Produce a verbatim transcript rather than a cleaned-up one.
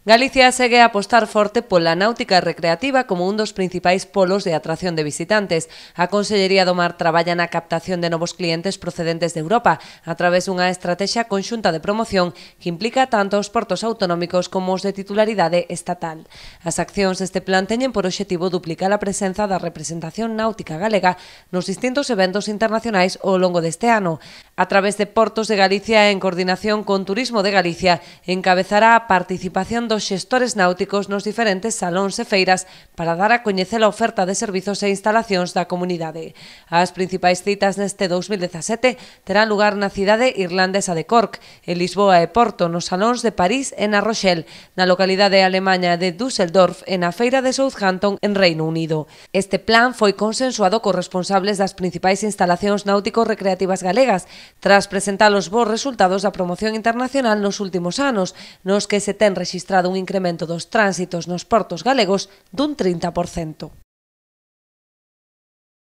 Galicia segue a apostar forte pola náutica recreativa como un dos principais polos de atracción de visitantes. A Consellería do Mar traballa na captación de novos clientes procedentes de Europa a través dunha estrategia conxunta de promoción que implica tanto os portos autonómicos como os de titularidade estatal. As accións deste plan teñen por obxectivo duplicar a presenza da representación náutica galega nos distintos eventos internacionais ao longo deste ano. A través de Portos de Galicia, en coordinación con Turismo de Galicia, encabezará a participación dos xestores náuticos nos diferentes salóns e feiras para dar a coñecer a oferta de servizos e instalacións da comunidade. As principais citas neste dous mil dezasete terán lugar na cidade irlandesa de Cork, en Lisboa e Porto, nos salóns de París e na Rochelle, na localidade alemaña de Düsseldorf e na feira de Southampton en Reino Unido. Este plan foi consensuado cos responsables das principais instalacións náutico-recreativas galegas, tras presentar os bons resultados da promoción internacional nos últimos anos, nos que se ten rexistrado un incremento dos tránsitos nos portos galegos dun trinta por cento.